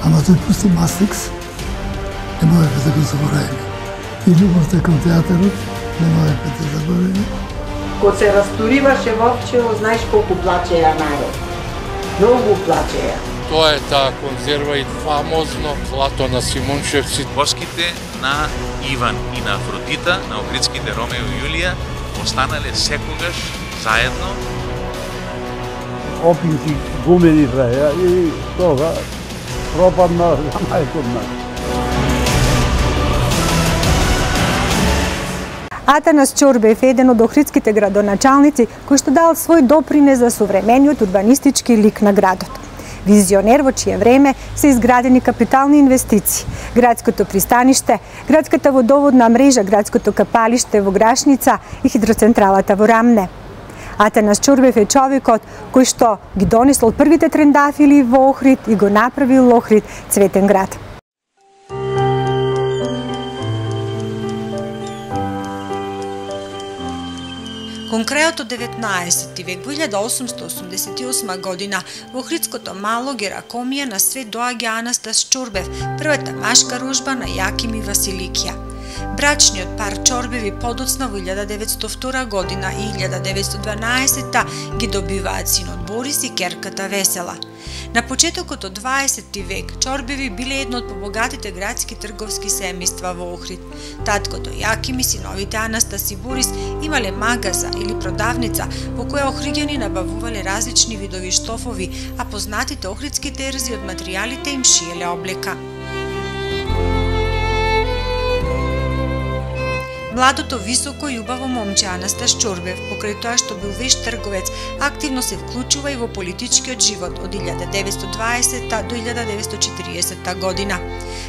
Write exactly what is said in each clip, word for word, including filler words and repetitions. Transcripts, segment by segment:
Ама тој пусти Мастрикс, не можеме да го заборавиме. И љубовта кон театарот, не можеме да заборавиме. Кога се разтуриваше Вовчево, знаеш колку плачеја народ. Многу плачеја. Тоа е таа конзерва и фамозно злато на Симунчевци. Воските на Иван и на Афродита, на Охридските Ромео и Јулија, останале секогаш заедно. Опинки гумени праја и тога пропадна за мајкот нас. Атанас Ќорбев е еден од охридските градоначалници кој што дал свој допринес за современиот урбанистички лик на градот. Визионер во чие време се изградени капитални инвестиции. Градското пристаниште, градската водоводна мрежа, градското капалиште во Грашница и хидроцентралата во Рамне. Атанас Ќорбев е човекот кој што ги донесол првите трендафили во Охрид и го направил Охрид цветен град. Кон крајот од деветнаесети век, во илјада осумстотини осумдесет и осма година, во Охридското мало Геракомија на свет доаѓа Анастас Ќорбев, првата машка рожба на Јаким и Василикија. Брачниот пар Ќорбеви подоцна во илјада деветстотини и втора година и илјада деветстотини и дванаесета ги добиваат синот Борис и керката Весела. На почетокот од дваесетти век Ќорбеви биле едно од побогатите градски трговски семејства во Охрид. Таткото Јаким и синовите Анастас и Борис имале магаза или продавница во која охриѓани набавувале различни видови штофови, а познатите охридски терзи од материјалите им шиеле облека. Младото, високо и убаво момче Анастас Ќорбев, покрај тоа што бил вешт трговец, активно се вклучува и во политичкиот живот од илјада деветстотини и дваесета до илјада деветстотини и четиридесета година.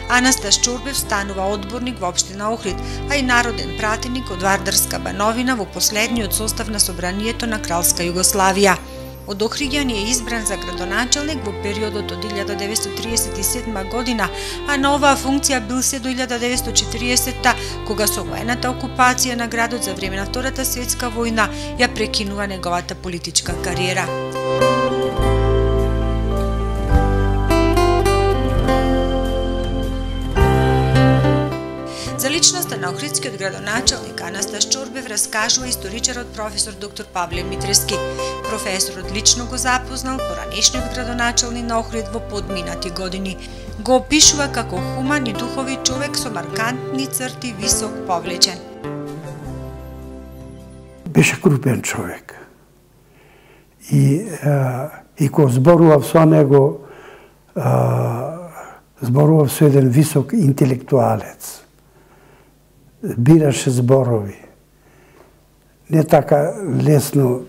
Анастас Ќорбев станува одборник во општина Охрид, а и народен пратеник од Вардарска бановина во последниот состав на Собранието на Кралска Југославија. Од охриѓани е избран за градоначалник во периодот од илјада деветстотини тридесет и седма година, а на оваа функција бил се до илјада деветстотини и четиридесета, кога со воената окупација на градот за време на Втората светска војна ја прекинува неговата политичка кариера. За личноста на охридскиот градоначалник Анастас Ќорбев раскажува историчарот професор доктор Павле Митрески. Професорот лично го запознал поранешниот градоначалник на Охрид во подминати години. Го опишува како хуман и духови човек со маркантни црти, висок, повлечен. Беше крупен човек. И, а, и кога зборував со него, а, зборував со еден висок интелектуалец. Бираше зборови. Не така лесно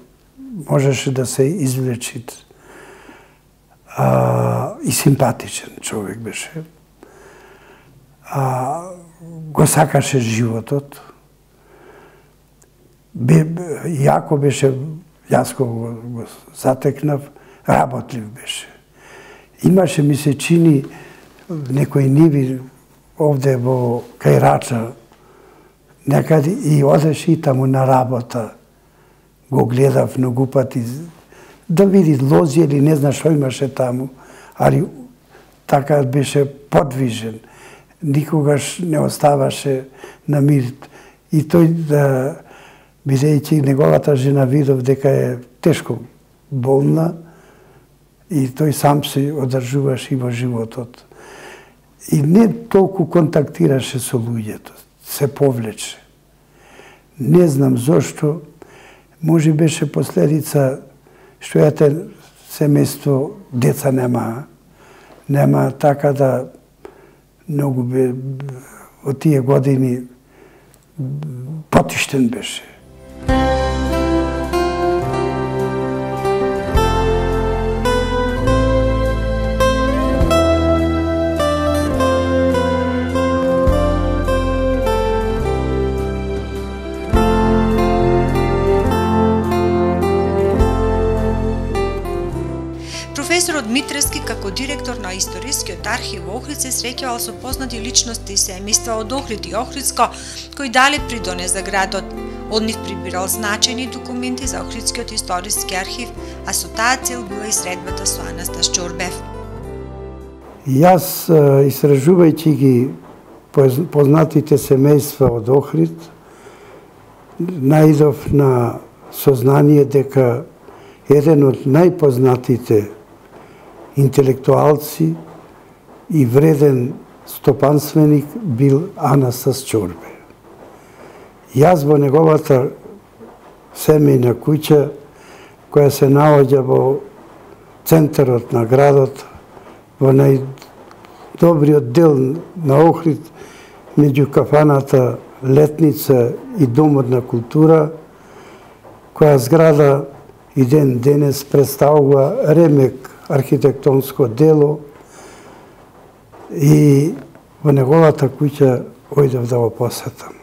можеше да се извлечи. А, и симпатичен човек беше. А, го сакаше животот. Бе, јако беше, јас го, го затекнав, работлив беше. Имаше, ми се чини, некои ниви овде во кај Рача, некаде и одеше и таму на работа. Го гледав многу пати, да види лози или не знам што имаше таму, али така беше подвижен. Никогаш не оставаше на мир. И тој, да, бидејќи неговата жена видов дека е тешко болна, и тој сам се одржуваше и во животот. И не толку контактираше со луѓето, се повлече. Не знам зошто, може беше последица што ете семејство деца нема, нема, така да многу бе, од тие години потиштен беше. Професорот Митрески, како директор на Историскиот архив во Охрид, се среќавал со познати личности и семејства од Охрид и Охридско, кои дале придонес за градот. Од нив прибирал значајни документи за Охридскиот историски архив, а со таа цел била и средбата со Анастас Ќорбев. И јас, истражувајќи ги познатите семејства од Охрид, наидов на сознание дека еден од најпознатите интелектуалци и вреден стопанственик бил Анастас Чорбе. Јас во неговата семејна куќа, која се наоѓа во центарот на градот, во најдобриот дел на Охрид, меѓу кафаната Летница и Домот на култура, која зграда и ден денес представува ремек архитектонско дело, и во неговата куќа ојдев да го посетам.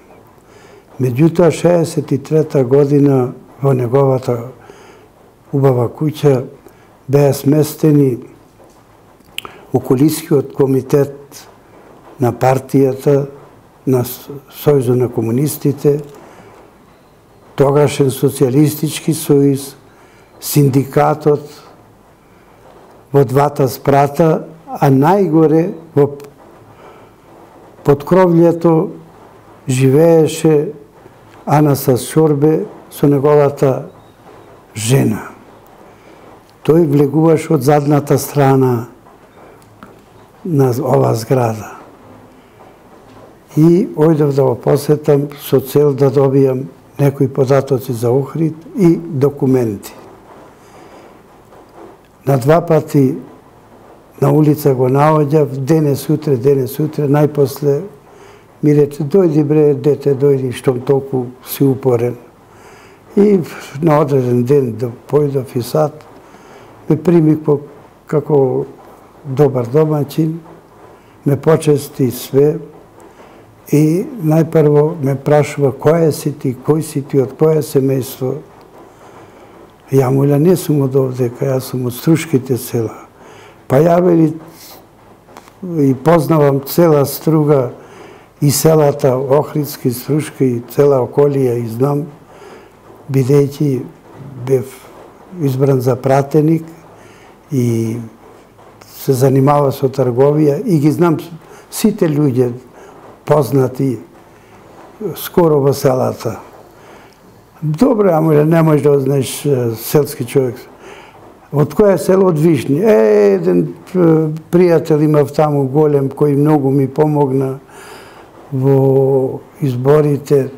Меѓутоа, шеесет и трета година во неговата убава куќа беа сместени околискиот комитет на партијата, на Сојузот на комунистите, тогашен социјалистички сојуз, синдикатот во двата спрата, а најгоре во подкровљето живееше Анастас Чорбе со неговата жена. Тој влегуваше од задната страна на ова зграда. И ојдев да го посетам со цел да добијам некои податоци за Охрид и документи. На два пати на улица го наоѓав, денес утре, денес утре, најпосле ми рече, дојди бре, дете, дојди, штом толку си упорен. И на одреден ден да појдов и сад, ме прими како добар домаќин, ме почести све и најпрво ме прашува кој си ти, кој си ти, од која семејство. Ја му не сум од овдека, јас сум од Струшките села. Па ја вели и познавам цела Струга и селата Охридски, Струшка и цела околија и знам, бидејќи бев избран за пратеник и се занимава со трговија и ги знам сите луѓе познати скоро во селата. Добре, ама не можеш да знаеш селски човек. Од која село? Од Вишни. Е, еден пријател имав таму голем, кој многу ми помогна во изборите,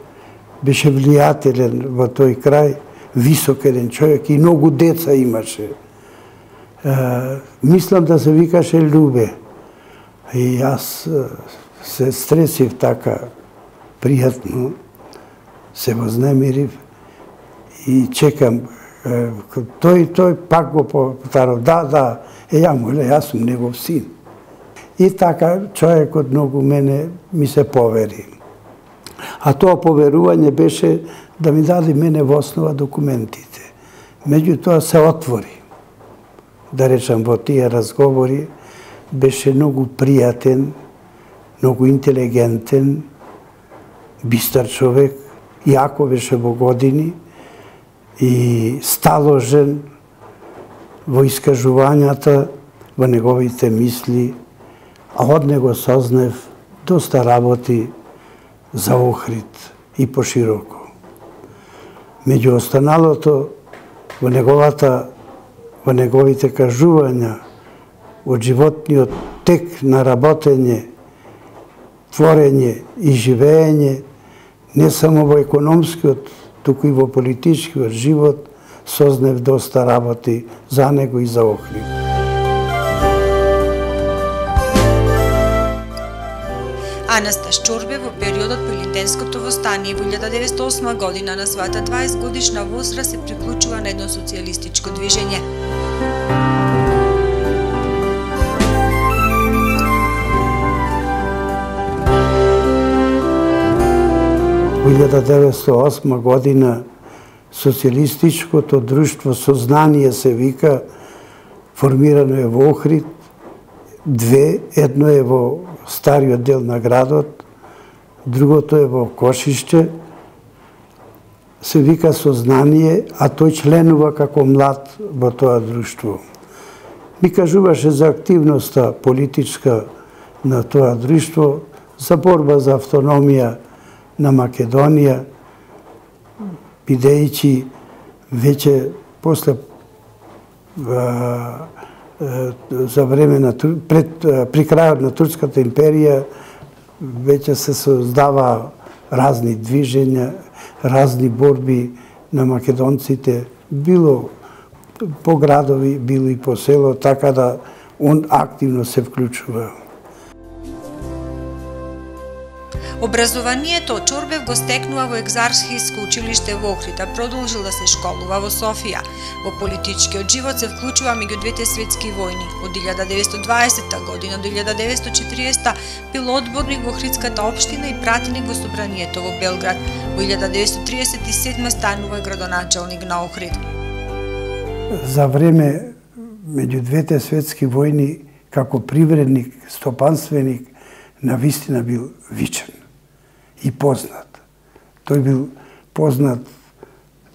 беше влијателен во тој крај, висок еден човек и многу деца имаше. Мислам да се викаше Љубе. И јас се стресив така пријатно, се вознемирив и чекам. Тој, тој пак го повторав, да, да, е, ја му, јас сум негов син. И така човекот многу мене ми се повери. А тоа поверување беше да ми даде мене во основа документите. Меѓутоа се отвори. Да речам, во тие разговори беше многу пријатен, многу интелигентен, бистар човек, јако беше во години и сталожен во искажувањата, во неговите мисли, а од него сознав доста работи за Охрид и пошироко. Меѓу останалото, во неговата во неговите кажувања од животниот тек на работење, творење и живеење, не само во економскиот, туку и во политичкиот живот, сознав доста работи за него и за Охрид. Анастас Чорбе во периодот по Илинденското востание во илјада деветстотини и осма година на својата дваесет годишна возраст се приклучува на едно социјалистичко движење. Во илјада деветстотини и осма година социјалистичкото друштво Сознание се вика, формирано е во Охрид, две, едно е во стариот дел на градот, другото е во Кошиште, се вика Сознание, а тој членува како млад во тоа друштво. ми кажуваше за активноста политичка на тоа друштво, за борба за автономија на Македонија, бидејќи веќе после а, а, за време на пред при крајот на Турската империја веќе се создава разни движења, разни борби на македонците, било по градови, било и по село, така да он активно се вклучува. Образованието од Чорбев го стекнува во Екзархиско училиште во Охрид, а продолжил да се школува во Софија. Во политичкиот живот се вклучува меѓу двете светски војни. Од илјада деветстотини и дваесетта година до илјада деветстотини и четиридесетта бил одборник во Охридската општина и пратеник во Собранието во Белград. Во илјада деветстотини тридесет и седма станува градоначалник на Охрид. За време меѓу двете светски војни како привредник, стопанственик, навистина бил вичен и познат. Тој бил познат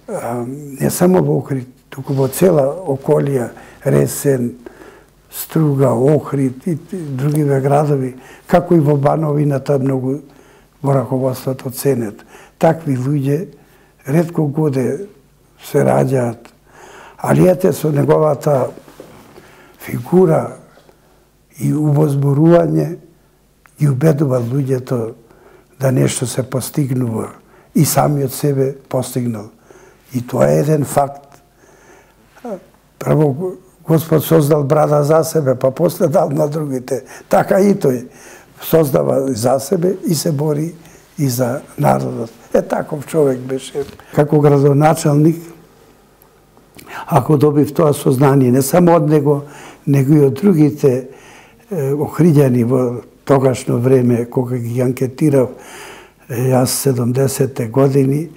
а, не само во Охрид, туку во цела околија, Ресен, Струга, Охрид и другиве градови, како и во Бановината многу во раководството ценет. Такви луѓе ретко годе се раѓаат, али ете со неговата фигура и увозборување и убедува луѓето да нешто се постигнува и самиот себе постигнал. И тоа е еден факт. Прво Господ создал брада за себе, па после дал на другите. Така и тој создава за себе и се бори и за народот. Е, таков човек беше. Како градоначалник, ако добив тоа сознание, не само од него, него и од другите е, охриѓани во тогашно време, кога ги анкетирав јас седумдесетте години,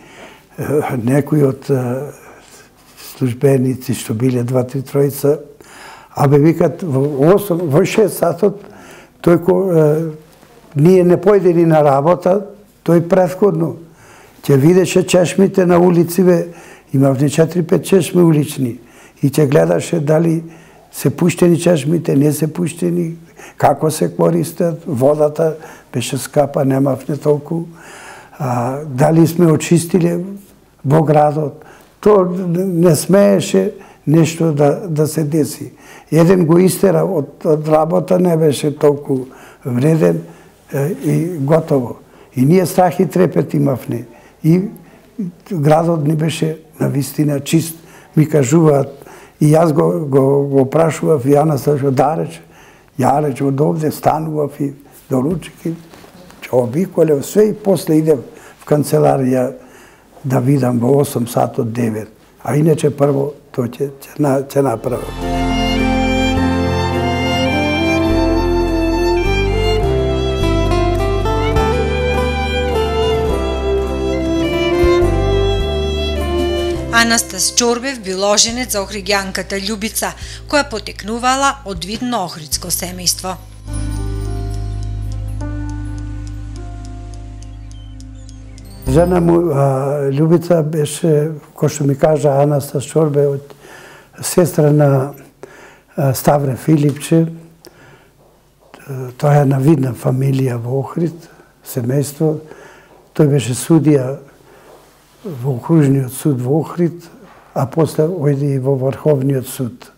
некои од службеници што биле два-три тројца, а бе викат во осум, во шест сатот, тој ко, ние не појдени на работа, тој претходно ќе видеше чешмите на улициве, имавме четири-пет чешми улични, и ќе гледаше дали се пуштени чешмите, не се пуштени, како се користат, водата беше скапа, немавме толку, а, дали сме очистили во градот. То не смееше нешто да, да се деси. Еден го истера од, од работа, не беше толку вреден е, и готово. И ние страх и трепет имавме. И градот ни беше навистина чист. Ми кажуваат, и јас го, го, го прашував, и Јана Сташо, да рече, ја рече, од овде станував и доручик и обиколев све и после идев в канцеларија да видам во осум сатот девет. А иначе прво тоа ќе, ќе, ќе направам. Анастас Чорбев бил оженет за охриѓанката Љубица, која потекнувала од видно охридско семејство. Жена му, а, Љубица, беше, кој што ми кажа, Анастас Чорбев, од сестра на а, Ставре Филипче. Тоа е една видна фамилија во Охрид, семејство. Тој беше судија во окружниот суд во Охрид, а после ојде и во Врховниот суд.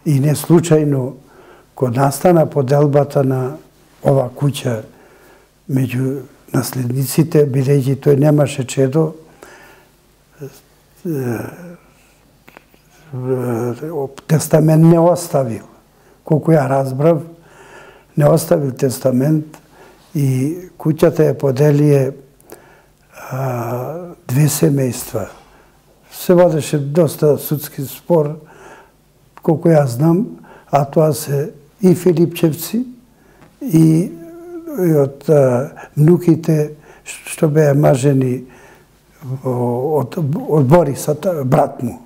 И не случајно, кога настана поделбата на ова куќа меѓу наследниците, бидејќи тој немаше чедо, тестамент не оставил. Колку ја разбрав, не оставил тестамент и куќата ја поделие а, две семејства. Се водеше доста судски спор, колку ја знам, а тоа се и Филипчевци, и, и од а, внуките што беа мажени од, од Бориса, брат му.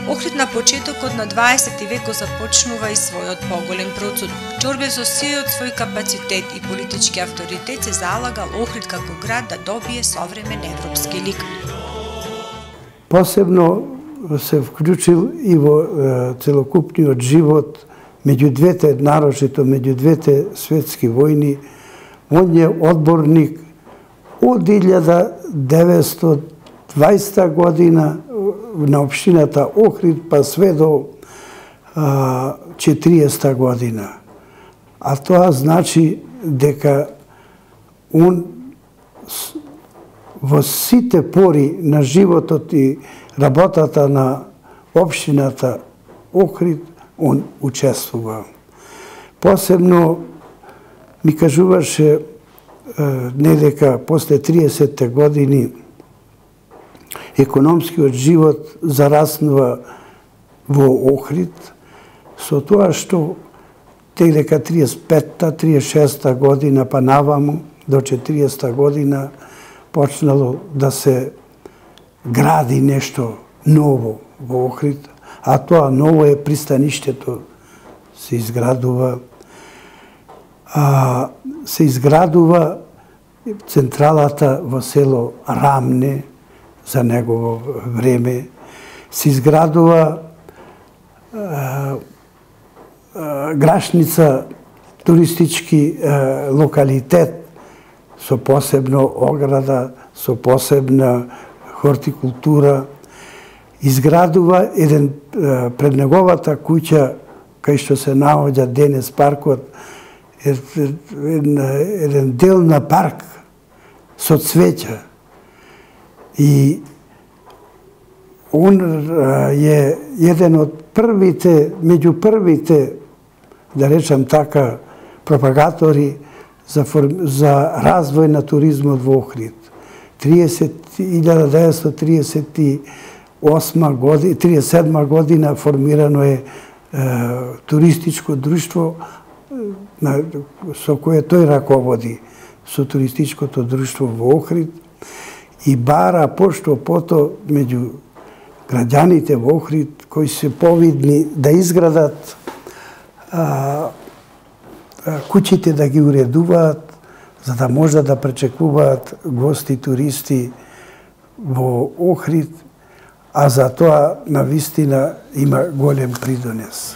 Охрид на почетокот на дваесети век го започнува и својот поголем процуд. Чорбев со сиот свој капацитет и политички авторитет се залагал Охрид како град да добие современ европски лик. Посебно се вклучил и во целокупниот живот меѓу двете, нарочито меѓу двете светски војни. Он е одборник од илјада деветстотини и дваесета година на општината Охрид, па све до четириесета година. А тоа значи дека он во сите пори на животот и работата на општината Охрид, он учествува. Посебно ми кажуваше не дека после триесетте години економскиот живот зараснува во Охрид, со тоа што тек дека триесет и петта, триесет и шеста година па наваму до четириесета година почнало да се гради нешто ново во Охрид, а тоа ново е пристаништето се изградува, а, се изградува централата во село Рамне за негово време, се изградува а, а, Грашница, туристички а, локалитет со посебно ограда, со посебна хортикултура, изградува еден пред неговата куќа кај што се наоѓа денес паркот, еден, еден дел на парк со цвеќа. И он е еден од првите, меѓу првите, да речам така, пропагатори за, за развој на туризмот во Охрид. илјада деветстотини триесет и осма година, триесет и седма година формирано е, е туристичко друштво на, со кое тој раководи, со туристичкото друштво во Охрид, и бара пошто пото меѓу граѓаните во Охрид кои се повидни да изградат а, а, куќите, да ги уредуваат, за да можат да пречекуваат гости, туристи во Охрид, а за тоа навистина има голем придонес.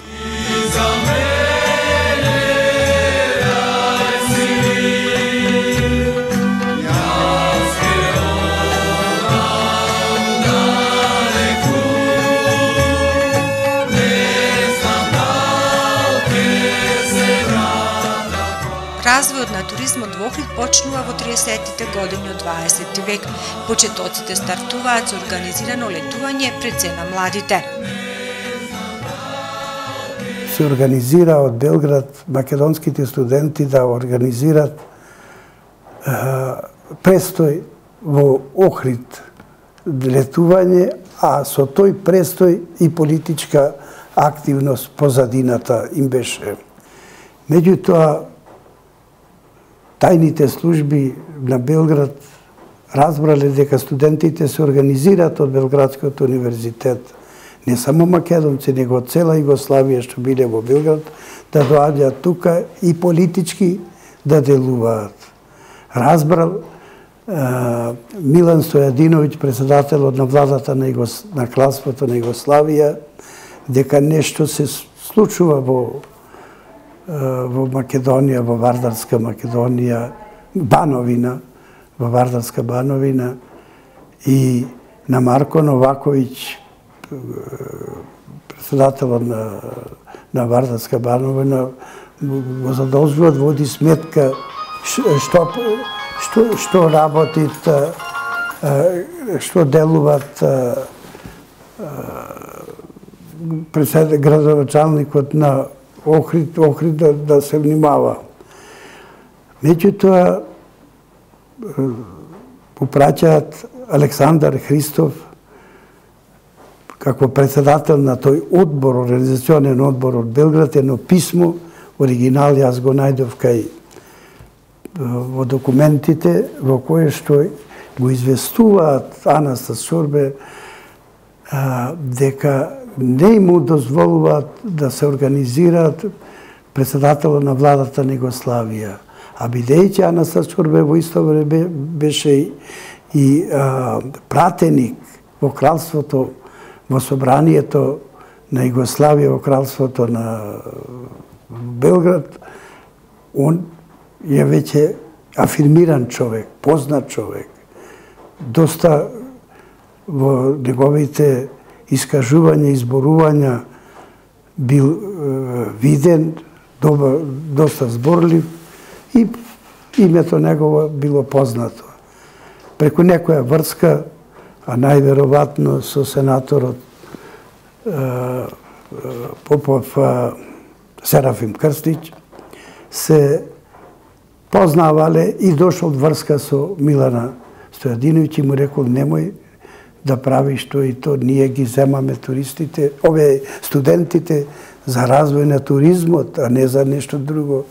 Развојот на туризмот во Охрид почнува во триесеттите години од дваесети век. Почетоците стартуваат со организирано летување пред се на младите. Се организира од Белград македонските студенти да организират е, престој во Охрид летување, а со тој престој и политичка активност позадината им беше. Меѓутоа, тајните служби на Белград разбрале дека студентите се организираат од Белградскиот универзитет, не само македонци, него од цела Југославија што биле во Белград, да доаѓаат тука и политички да делуваат. Разбрал е, Милан Стојадиновиќ, председателот на владата на, Југос... на кралството на Југославија, дека нешто се случува во во Македонија, во Вардарска Македонија, Бановина, во Вардарска Бановина, и на Марко Новаковиќ, председателот на, на Вардарска Бановина, го задолжува да води сметка што, што, што работит, што делуват градоначалникот на Охрид, Охрид да, да се внимава. Меѓутоа, попраќаат Александар Христов како председател на тој одбор, организационен одбор од Белград, едно писмо, оригинал јас го најдов кај во документите, во кое што го известуваат Анастас Чорбе дека не му дозволуваат да се организираат председателот на владата на Југославија. А бидејќи Анастас Чорбе во исто време беше и а, пратеник во кралството, во собранието на Југославија, во кралството на Белград, он е веќе афирмиран човек, познат човек. Доста во неговите искажувања, изборувања бил е, виден, добар, доста зборлив и името негово било познато. Преку некоја врска, а најверојатно со сенаторот е, Попов е, Серафим Крстич, се познавале и дошол врска со Милана Стојадиновиќ и му рекол немој да правиш тоа и тоа, ние ги земаме туристите, ове студентите за развој на туризмот, а не за нешто друго.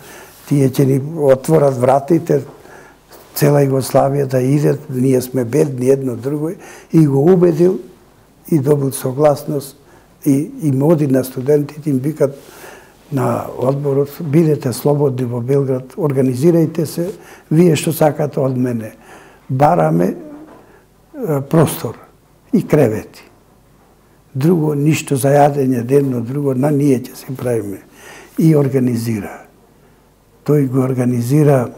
Тие ќе ни отворат вратите, цела Југославија да идет, ние сме бедни едно друго, и го убедил и добил согласност и им оди на студентите, им викат на одборот, бидете слободни во Белград, организирајте се, вие што сакате од мене. Бараме е, простор и кревети. Друго, ништо за јадење денно, друго, на ние ќе се правиме. И организира. Тој го организира,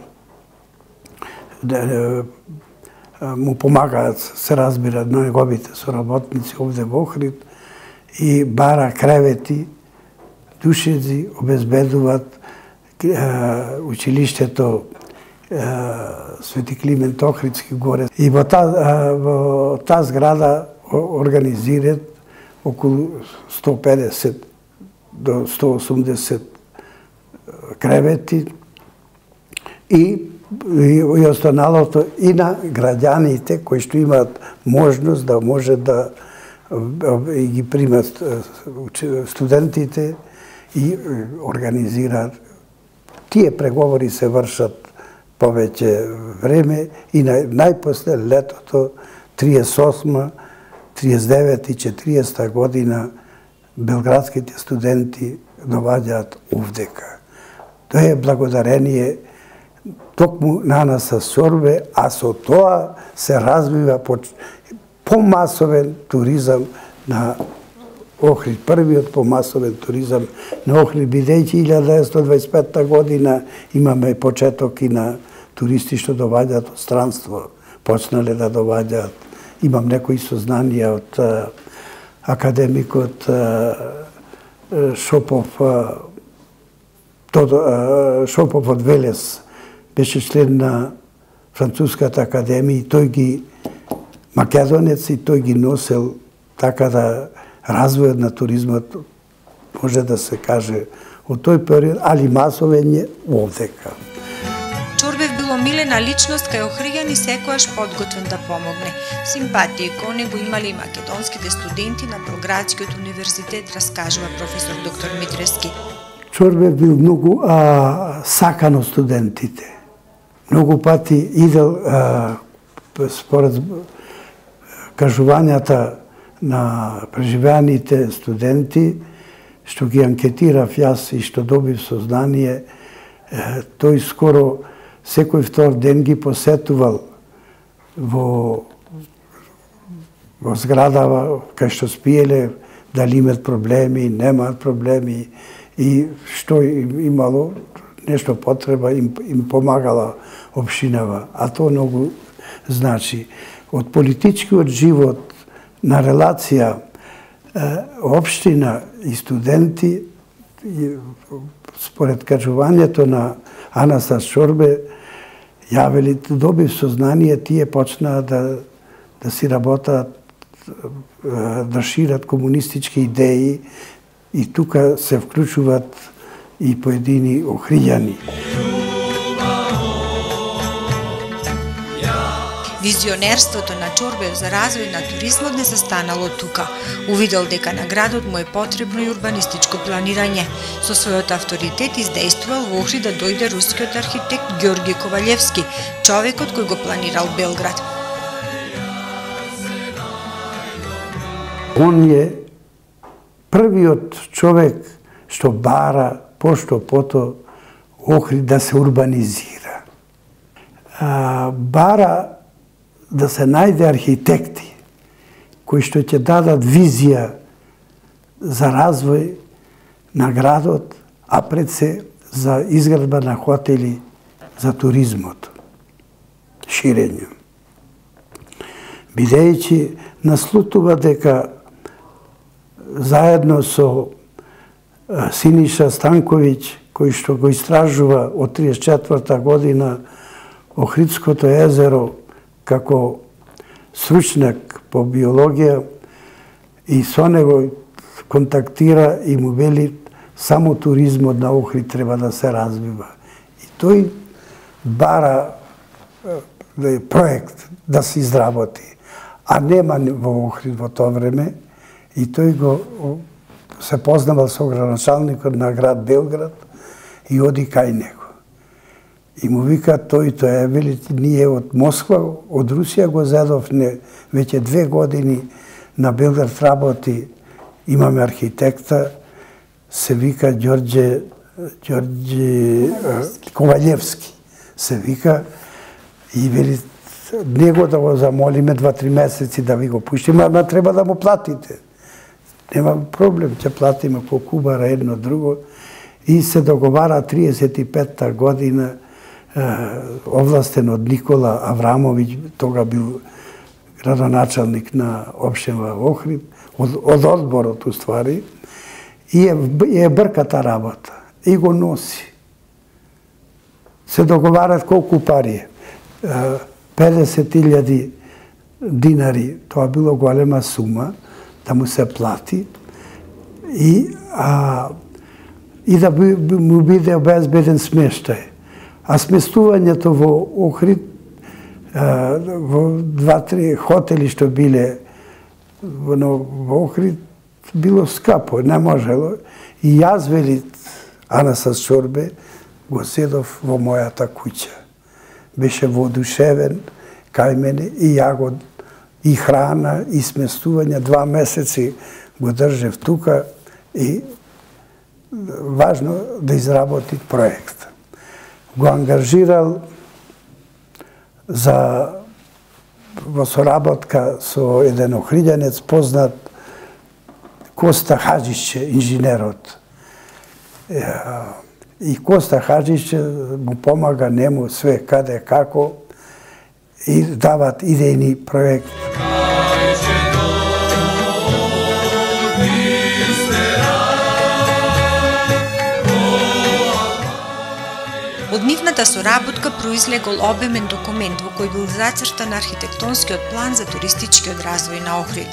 да, му помагаат, се разбира, на неговите соработници овде во Охрид, и бара кревети, душеци, обезбедуваат училиштето Свети Климент Охридски горе. И во таа, во таа зграда организират околу сто педесет до сто осумдесет кревети и, и, и останалото и на граѓаните кои што имаат можност да може да и ги примат студентите и организираат. Тие преговори се вршат повеќе време и на, најпосле летото триесет и осма, триесет и девета и четириесета година белградските студенти доаѓаат овдека. Тоа е благодарение токму на Анастас Чорбе, а со тоа се развива помасовен туризам на Охрид, првиот помасовен туризам на Охрид, бидејќи илјада деветстотини дваесет и пета година имаме почеток и на туристи што доаѓаат од странство, почнале да доаѓаат. Имам некои сознанија од а, академикот а, Шопов, а, Тодо, а, Шопов од Велес, беше член на Француската академија и тој ги македонец и тој ги носел така да развојот на туризмот може да се каже од тој период, али масовен е овдека. Чорбев бил омилена личност кај Охриѓани секојаш подготвен да помогне. Симпатија кон него имали и македонските студенти на Белградскиот универзитет, раскажува професор доктор Митрески. Чорбев бил многу а, сакан од студентите. Многу пати идел а, според кажувањата на преживеаните студенти, што ги анкетирав јас и што добив сознание, тој скоро секој втор ден ги посетувал во, во зградава кај што спиеле, дали имат проблеми, немаат проблеми и што имало нешто потреба, им, им помагала општинава. А тоа многу значи. Од политичкиот живот на релација општина и студенти, според кажувањето на Анастас Чорбе, ја вели, добив сознание, тие почнаа да, да си работаат, да шират комунистички идеи и тука се вклучуваат и поедини охриѓани. Визионерството на Чорбев за развој на туризмот не се станало тука. Увидел дека на градот му е потребно и урбанистичко планирање. Со својот авторитет издействувал во Охрид да дојде рускиот архитект Георги Ковалевски, човекот кој го планирал Белград. Он е првиот човек што бара пошто пото Охрид да се урбанизира. А, бара да се најде архитекти кои што ќе дадат визија за развој на градот, а пред се за изградба на хотели за туризмот, ширење. Бидејќи наслутува дека заедно со Синиша Станковиќ, кој што го истражува од триесет и четврта година Охридското езеро како стручнак по биологија, и со него контактира и му вели само туризмот на Охрид треба да се развива. И тој бара проект да се изработи, а нема во Охрид во тоа време, и тој го се познавал со градоначалникот на град Белград и оди кај него. И му вика тој, тој е, вели, ние од Москва, од Русија го зедовне веќе две години на Белград работи, имаме архитекта, се вика Ѓорѓе Ѓорѓе Ковалевски, се вика, и вели, него да го замолиме два-три месеци да ви го пуштиме, ама треба да му платите. Нема проблем, ќе платиме по кубара едно друго. И се договара триесет и петта година, овластен од Никола Аврамовиќ, тога бил градоначалник на општина Охрид, од, од одборот уствари, и е, е брката работа, и го носи. Се договарат колку пари е. педесет илјади динари, тоа било голема сума, да му се плати, и, а, и да би, му биде обезбеден смештај. А сместувањето во Охрид, во два-три хотели што биле во, во Охрид, било скапо, не можело. И јас, вели Анасас Чорбе, го седов во мојата куќа. Беше воодушевен кај мене и ја го и храна, и сместување, два месеци го држев тука, и важно да изработи проект. Го ангажирал за во соработка со еден охриѓанец познат, Коста Хаџишće, инженерот. И Коста Хаџишće му помага нему све каде како и дават идејни проект. Од нивната соработка произлегол обемен документ во кој бил зацртан архитектонскиот план за туристичкиот развој на Охрид.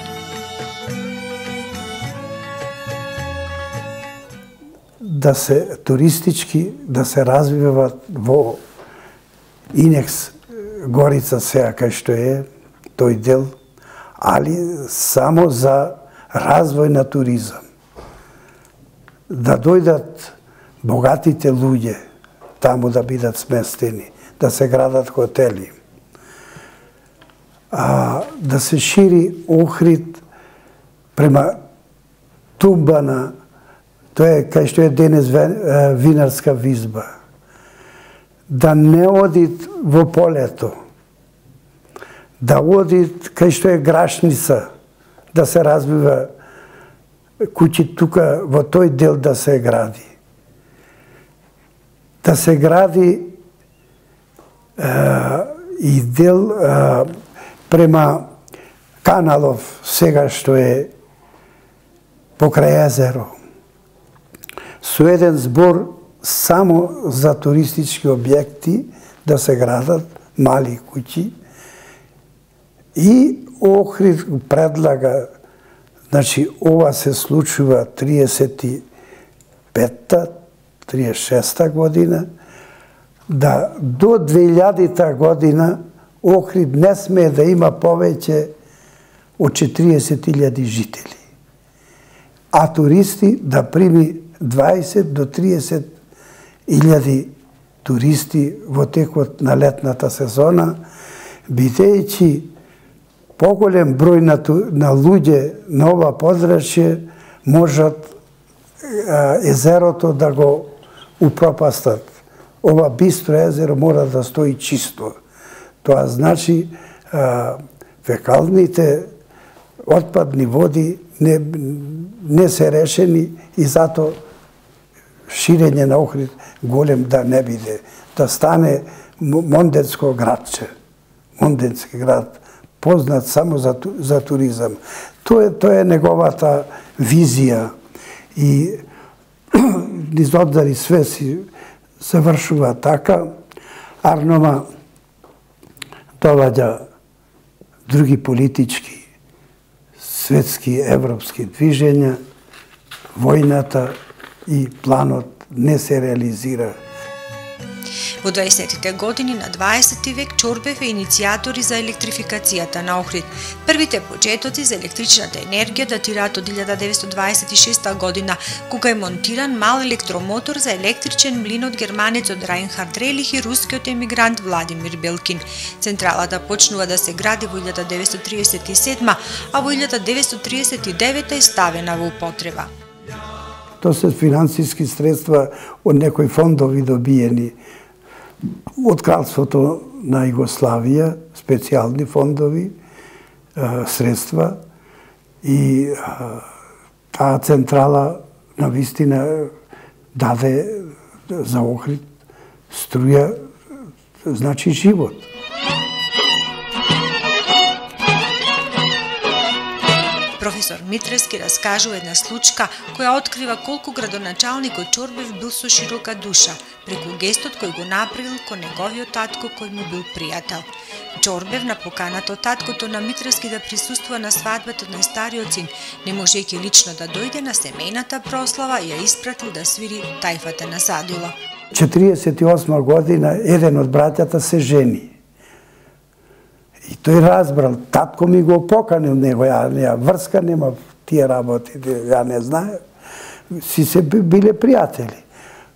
Да се туристички, да се развиваат во Инекс Горица сега кај што е тој дел, али само за развој на туризам. Да дојдат богатите луѓе таму да бидат сместени, да се градат хотели. А, да се шири Охрид према Тумбана, тоа е кај што е денес винарска визба. Да не одит во полето, да одит кај што е Грашница, да се развива куќи тука во тој дел да се гради. Да се гради е, и дел е, према Каналов, сега што е покрај езеро, со еден збор само за туристички објекти да се градат мали куќи, и Охрид предлага, значи ова се случува триесет и петта триесет и шеста година, да до две илјадита година Охрид не смее да има повеќе од четириесет илјади жители, а туристи да прими дваесет до триесет илјади туристи во текот на летната сезона, бидејќи поголем број на, на луѓе на ова подрачје можат езерото да го упропастат. Ова бистро езеро мора да стои чисто. Тоа значи фекалните отпадни води не, не се решени и зато ширење на Охрид голем да не биде. Да стане монденско градче. Монденски град, познат само за, за туризам. Тоа е, тоа е неговата визија и низ оддари све си завршува така. Арнома доваѓа други политички, светски, европски движења, војната и планот не се реализира. Во дваесеттите години на дваесети век Чорбев е иницијатори за електрификацијата на Охрид. Првите почетоци за електричната енергија датираат од илјада деветстотини дваесет и шеста година, кога е монтиран мал електромотор за електричен млин од германецот Райнхард Релих и рускиот емигрант Владимир Белкин. Централата почнува да се гради во илјада деветстотини триесет и седма, а во илјада деветстотини триесет и девета е ставена во употреба. Тоа се финансиски средства од некои фондови добиени од кралството на Југославија, специјални фондови, средства и таа централа на вистина даде за Охрид струја, значи живот. Професор Митрески раскажува една случка која открива колку градоначалникот Чорбев бил со широка душа, преку гестот кој го направил кон неговиот татко кој му бил пријател. Чорбев на поканата од таткото на Митрески да присуствува на свадбата на стариот син, не можејќи лично да дојде на семејната прослава, ја испратил да свири тајфата на Садило. четириесет и осма година еден од браќата се жени. И тој разбрал, татко ми го поканил него, ја, ја врска нема тие работи, ја не знае. Си се биле пријатели.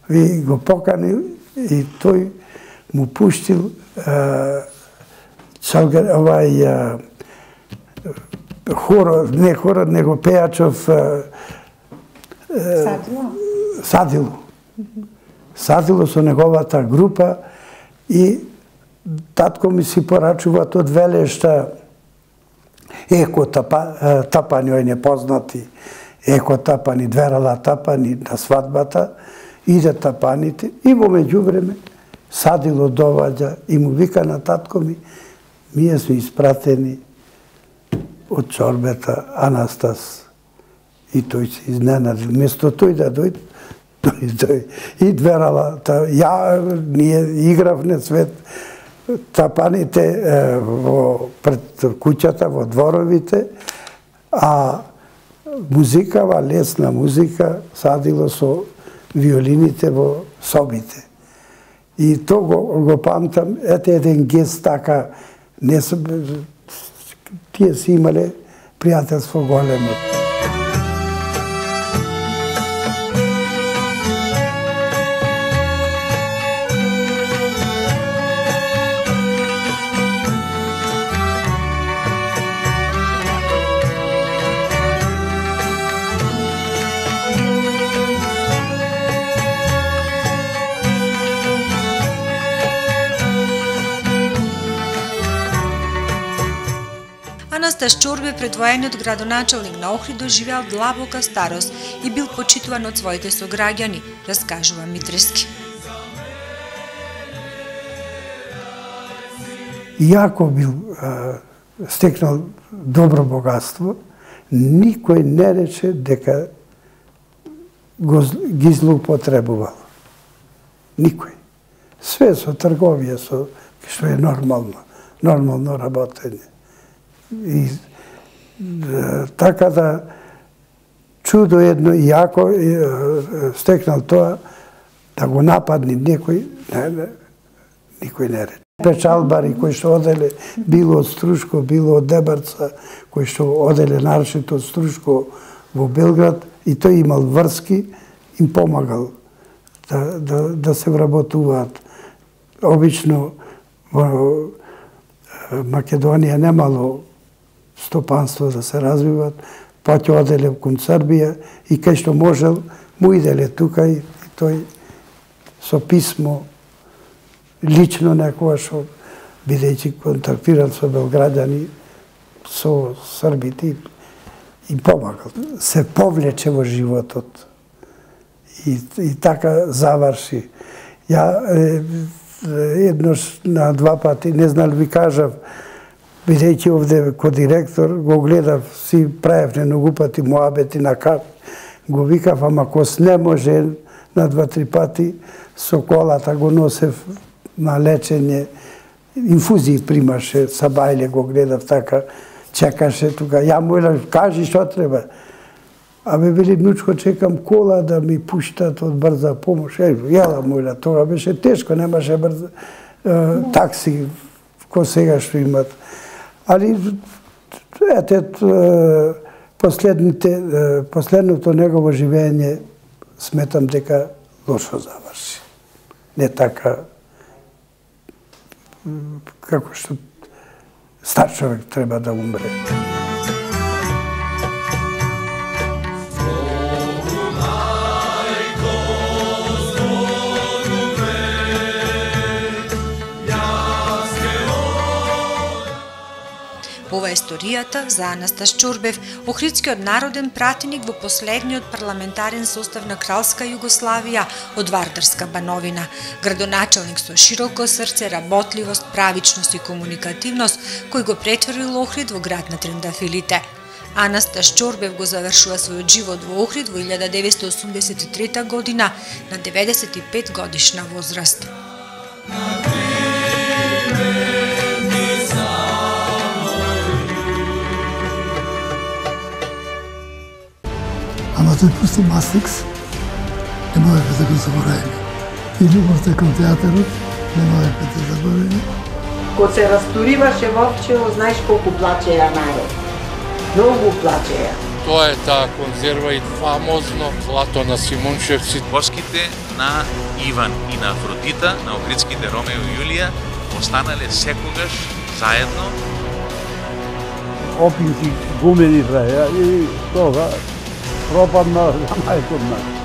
И го поканил и тој му пуштил е, чалгар, овај е, хор, не хор, него пејачов е, Садило. Садило. Садило со неговата група и татко ми си порачува од Велешта еко тапа, тапани, ој непознати, еко тапани, дверала тапани на свадбата, иде тапаните и во меѓувреме Садило доваѓа и му вика на татко ми, ние сме испратени од чорбета Анастас. И тој се изненадил. Место тој да дојде, тој дојде. И дверала, ја, ние игравне свет, тапаните во пред куќата, во дворовите, а музикава, лесна музика, Садило со виолините во собите. И то го, го памтам, ете еден гест така, не се, тие си имале пријателство големо. Анастас Чорбев, предвоениот градоначалник на Охрид, доживеал длабока старост и бил почитуван од своите сограѓани, раскажува Митрески. Иако бил а, стекнал добро богатство, никој не рече дека го, ги злоупотребувал. Никој. Све со трговија, со, што е нормално, нормално работење. И да, така да чудо едно, иако е, стекнал тоа, да го нападни некој, не, не, никој не рече. Печалбари кои што оделе, било од Струшко, било од Дебарца, кои што оделе нарочито од Струшко во Белград, и тој имал врски, им помагал да, да, да се вработуваат. Обично во Македонија немало стопанство да се развиват, па ќе оделе кон Србија и кај што можел му иделе тука и, и тој со писмо лично некоја што бидејќи контактирал со белграѓани, со србите и помагал. Се повлече во животот и, и така заврши. Ја е, еднош на два пати, не знам ви кажав, бидејќи овде ко директор, го гледав, си правев многу пати муабети на кап, го викав, ама кос не може на два-три пати, со колата го носев на лечење, инфузии примаше, сабајле го гледав така, чекаше тука, ја му елам, кажи што треба. Абе, вели, внучко, чекам кола да ми пуштат од брза помош. Е, јела му елам, тога беше тешко, немаше брза е, такси, ко сега што имат. Али, ете, последните, последното негово живење, сметам дека лошо заврши. Не така, како што стар човек треба да умре. Ова е историјата за Анастас Чорбев, охридскиот народен пратеник во последниот парламентарен состав на Кралска Југославија од Вардарска бановина. Градоначалник со широко срце, работливост, правичност и комуникативност, кој го претворил Охрид во град на трендафилите. Анастас Чорбев го завршува својот живот во Охрид во илјада деветстотини осумдесет и трета година на деветдесет и пет годишна возраст. Ама тој пусти Мастрикс, не можеше да го заборавиме. И љубовта кон театарот, не можеше да заборавиме. Кога се растуриваше Вовчево, знаеш колку плачеја народ. Многу плачеја. Тоа е таа конзерва и фамозно клато на Симунчевци. Воските на Иван и на Афродита, на охридските Ромео и Јулија, останале секогаш заедно. Опинки гумени траја и тога пропадна за мајкот нас.